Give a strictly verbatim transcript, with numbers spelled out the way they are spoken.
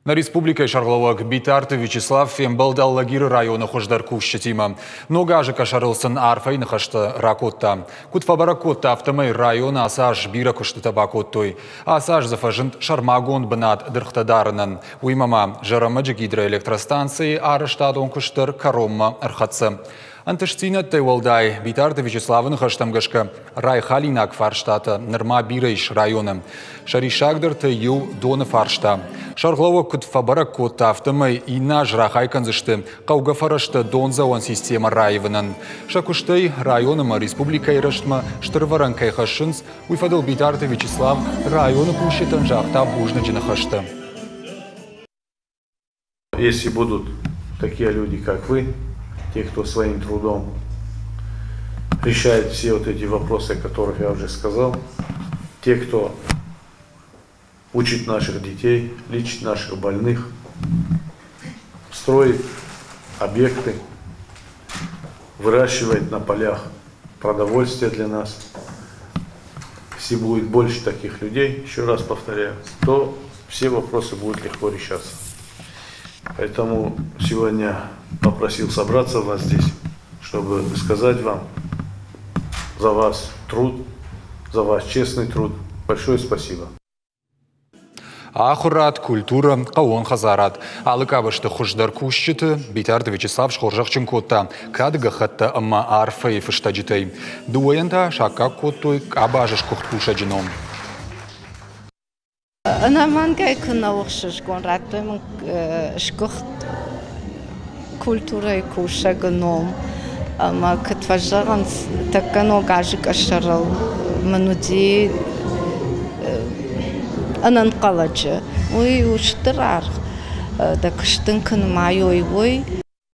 Нӕ республикӕйы сӕргълӕууӕг Битарты Вячеслав фембӕлд Алагиры районы хуыздӕр кусджытимӕ. Ног азы къӕсӕрыл сын арфӕйы ныхӕстӕ ракодта. Куыд фӕбӕрӕг кодта, афтӕмӕй районы ацы аз бирӕ куыстытӕ бакодтой. Ацы аз дзы фӕзынд сӕрмагонд бынат дыргътӕ дарынӕн. Уыимӕ ма Зӕрӕмӕджы гидроэлектростанцӕйы арӕзтадон куыст дӕр кӕронмӕ ӕрхӕццӕ. Ӕнтыстдзинӕдтӕй уӕлдай Битарты Вячеславы ныхӕстӕм гӕсгӕ райхалинаг фарстатӕ нырма бирӕ ис районы. Сӕ риссагдӕртӕй иу доны фарста. Сӕргълӕууӕг куыд фӕбӕрӕг кодта, афтӕмӕй иннӕ аз рахай кӕндзысты хъӕугӕ фӕрӕзтӕ дондзӕуӕн системӕ раивынӕн. Сӕ куыстӕй районы ӕмӕ республикӕйы рӕзтмӕ стыр ӕвӕрӕн кӕй хӕссынц, уый фӕдыл Битарты Вячеслав районы кусджытӕн загъта бузныджы ныхӕстӕ. Если будут такие люди, как вы, те, кто своим трудом решает все вот эти вопросы, о которых я уже сказал, те, кто учит наших детей, лечит наших больных, строит объекты, выращивает на полях продовольствие для нас. Если будет больше таких людей, еще раз повторяю, то все вопросы будут легко решаться. Поэтому сегодня попросил собраться вас здесь, чтобы сказать вам за ваш труд, за ваш честный труд. Большое спасибо. Ахуырад, культурӕ, хъӕууон хӕдзарад. Алы къабӕзты хуыздӕр кусджыты Битарты Вячеслав схорзӕхджын кодта кады гӕххӕттӕ ӕмӕ арфӕйы фыстӕджытӕй. Дыууӕйӕн та саккаг кодтой къабазы сгуыхт кусӕджы ном. Ӕнӕмӕнгӕй куы нӕ у ӕхсызгон, радтой мын сгуыхт культурӕйы кусӕгы ном. Ӕмӕ куыд фӕзӕгъынц, тӕккӕ ног азы къӕсӕрыл мын уыди ӕнӕнхъӕлӕджы. Уый у стыр аргъ, дӕ куыст дын куы нымайой, уый.